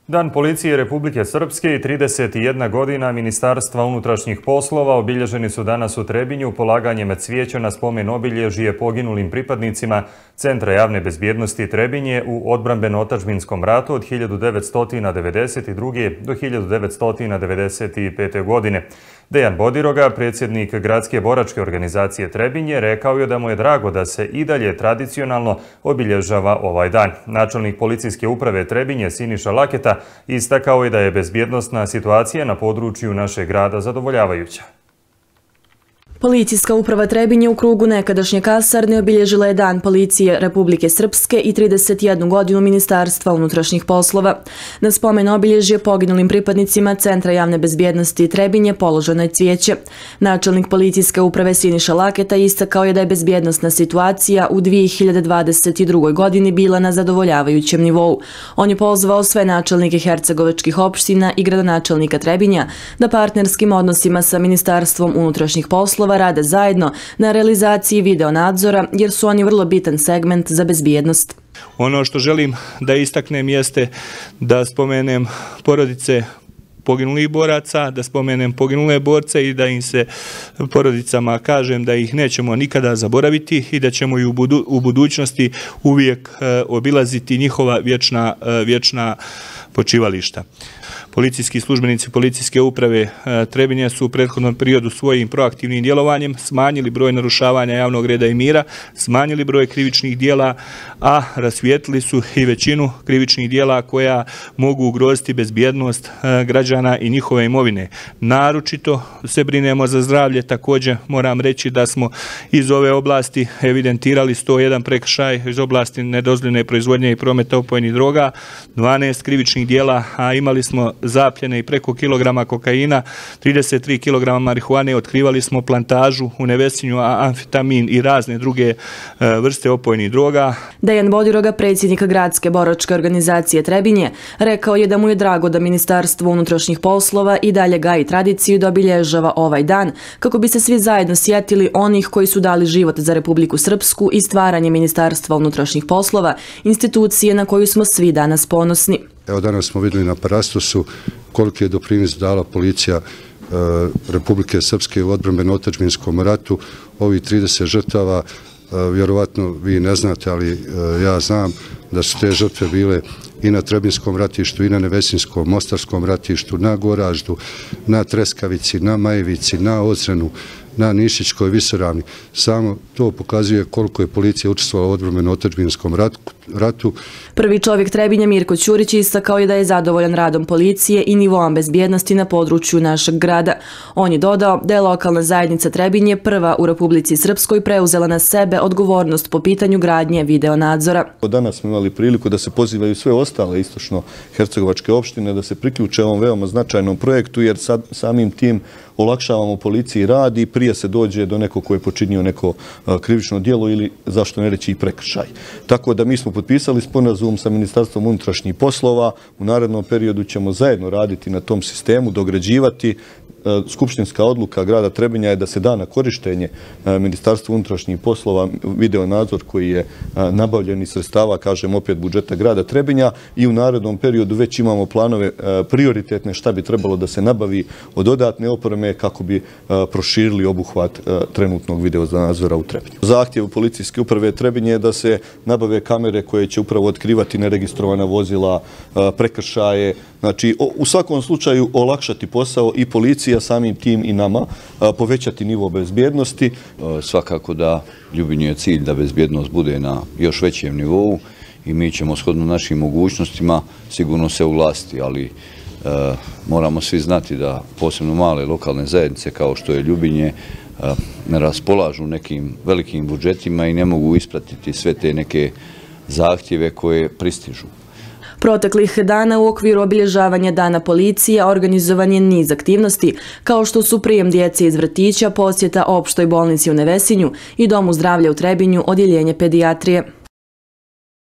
Dan policije Republike Srpske i 31 godina Ministarstva unutrašnjih poslova obilježeni su danas u Trebinju polaganjem cvijeća na spomen obilježje poginulim pripadnicima Centra javne bezbjednosti Trebinje u odbrambeno-otadžbinskom ratu od 1992. do 1995. godine. Dejan Bodiroga, predsjednik Gradske boračke organizacije Trebinje, rekao je da mu je drago da se i dalje tradicionalno obilježava ovaj dan. Načelnik policijske uprave Trebinje Siniša Laketa istakao je da je bezbjednosna situacija na području našeg grada zadovoljavajuća. Policijska uprava Trebinje u krugu nekadašnje kasarne obilježila je Dan policije Republike Srpske i 31 godinu Ministarstva unutrašnjih poslova. Na spomen obilježje poginulim pripadnicima Centra javne bezbjednosti Trebinje položeno je cvijeće. Načelnik policijske uprave Siniša Laketa istakao je da je bezbjednosna situacija u 2022. godini bila na zadovoljavajućem nivou. On je pozvao sve načelnike hercegovačkih opština i gradonačelnika Trebinja da partnerskim odnosima sa Ministarstvom unutrašnjih poslova rade zajedno na realizaciji videonadzora jer su oni vrlo bitan segment za bezbjednost. Ono što želim da istaknem jeste da spomenem porodice poginulih boraca, da spomenem poginule borce i da im se porodicama kažem da ih nećemo nikada zaboraviti i da ćemo i u budućnosti uvijek obilaziti njihova vječna počivališta. Policijski službenici policijske uprave Trebinje su u prethodnom periodu svojim proaktivnim djelovanjem smanjili broj narušavanja javnog reda i mira, smanjili broj krivičnih dijela, a rasvijetlili su i većinu krivičnih dijela koja mogu ugroziti bezbjednost građana i njihove imovine. Naročito se brinemo za zdravlje, također moram reći da smo iz ove oblasti evidentirali 101 prekršaj iz oblasti nedozvoljene proizvodnje i prometa opojnih droga, 12 krivičnih dijela, a imali smo zapljene i preko kilograma kokaina, 33 kilograma marihuane, otkrivali smo plantažu u Nevesinju, amfetamin i razne druge vrste opojnih droga. Dejan Bodiroga, predsjednik Gradske boračke organizacije Trebinje, rekao je da mu je drago da Ministarstvo unutrašnjih poslova i dalje gaji tradiciju da obilježava ovaj dan, kako bi se svi zajedno sjetili onih koji su dali život za Republiku Srpsku i stvaranje Ministarstva unutrašnjih poslova, institucije na koju smo svi danas ponosni. Evo danas smo vidjeli na Parastosu koliki je doprinos dala policija Republike Srpske u odbrambeno-otadžbinskom ratu. Ovih 30 žrtava, vjerovatno vi ne znate, ali ja znam da su te žrtve bile i na Trebinskom ratištu, i na Nevesinskom, Mostarskom ratištu, na Goraždu, na Treskavici, na Majevici, na Ozrenu, na Nišićkoj visoravni. Samo to pokazuje koliko je policija učestvovala u odbrambeno-otadžbinskom ratu. Prvi čovjek Trebinja Mirko Ćurić istakao je da je zadovoljan radom policije i nivoom bezbjednosti na području našeg grada. On je dodao da je lokalna zajednica Trebinje prva u Republici Srpskoj preuzela na sebe odgovornost po pitanju gradnje videonadzora. Danas smo imali priliku da se pozivaju sve ostale istočno-hercegovačke opštine da se priključe ovom veoma značajnom projektu jer samim tim olakšavamo policiji rad i prije se dođe do nekog koji je počinio neko krivično djelo ili zašto ne reći i prekršaj. Tako da mi smo potpisali sporazum sa Ministarstvom unutrašnjih poslova. U narednom periodu ćemo zajedno raditi na tom sistemu, dograđivati. Skupštinska odluka grada Trebinja je da se da na korištenje Ministarstva unutrašnjih poslova videonadzor koji je nabavljen iz sredstava, kažem opet, budžeta grada Trebinja i u narednom periodu već imamo planove prioritetne šta bi trebalo da se nabavi od dodatne opreme kako bi proširili obuhvat trenutnog videonadzora u Trebinju. Zahtjev policijske uprave Trebinje je da se nabave kamere koje će upravo otkrivati neregistrovana vozila, prekršaje, znači u svakom slučaju olakšati posao i policija, samim tim i nama, povećati nivo bezbjednosti. Svakako da Ljubinju je cilj da bezbjednost bude na još većem nivou i mi ćemo shodno našim mogućnostima sigurno se uglasiti, ali moramo svi znati da posebno male lokalne zajednice kao što je Ljubinje ne raspolažu nekim velikim budžetima i ne mogu ispratiti sve te neke zahtjeve koje pristižu. Proteklih dana u okviru obilježavanja Dana policije organizovan je niz aktivnosti, kao što su prijem djece iz vrtića, posjeta opštoj bolnici u Nevesinju i Domu zdravlja u Trebinju, odjeljenje pedijatrije.